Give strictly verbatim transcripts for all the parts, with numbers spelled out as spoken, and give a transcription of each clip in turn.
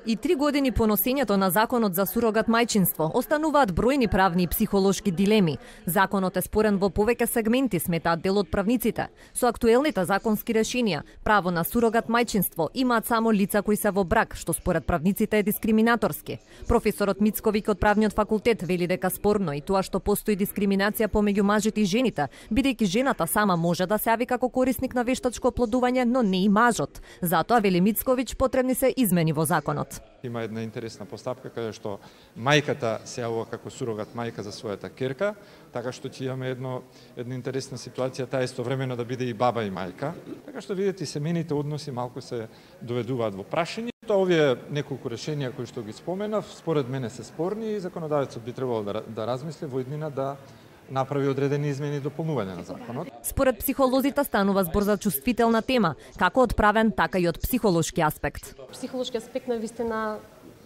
И три години по носењето на законот за сурогат мајчинство остануваат бројни правни и психолошки дилеми. Законот е спорен во повеќе сегменти, сметаат дел од правниците. Со актуелните законски решенија, право на сурогат мајчинство имаат само лица кои се во брак, што според правниците е дискриминаторски. Професорот Мицковиќ од правниот факултет вели дека спорно и тоа што постои дискриминација помеѓу мажите и жените, бидејќи жената сама може да се јави како корисник на вештачко оплодување, но не и мажот. Затоа, вели Мицковиќ, потребни се измени во законот. Има една интересна постапка каде што мајката се јавува како сурогат мајка за својата керка, така што ќе имаме едно една интересна ситуација таа истовремено да биде и баба и мајка. Така што видите семејните односи малку се доведуваат во прашање. Тоа овие неколку решенија кои што ги споменав, според мене се спорни и законодавецот би требало да, да размисли во иднина да направи одредени измени и дополнување на законот. Според психолозите станува збор за чувствителна тема, како од правен, така и од психолошки аспект. Психолошки аспект на вистина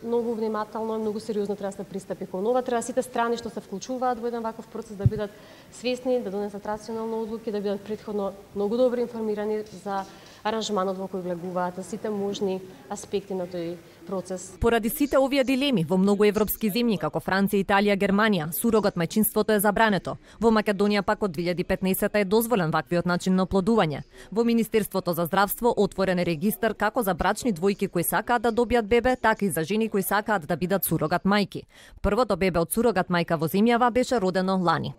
многу внимателно и многу сериозно треба да се пристапи кон ова. Треба сите страни што се вклучуваат во еден ваков процес да бидат свесни, да донесат рационални одлуки, да бидат претходно многу добро информирани за аранжманот во кој влегуваат, за сите можни аспекти на тој процес. Поради сите овие дилеми во многу европски земји како Франција, Италија, Германија, сурогат мајчинството е забрането. Во Македонија пак од две илјади и петнаесета е дозволен ваквиот начин на оплодување. Во Министерството за здравство отворен е регистар како за брачни двојки кои сакаат да добијат бебе, така и за жени кои сакаат да бидат сурогат мајки. Првото бебе од сурогат мајка во земјава беше родено лани.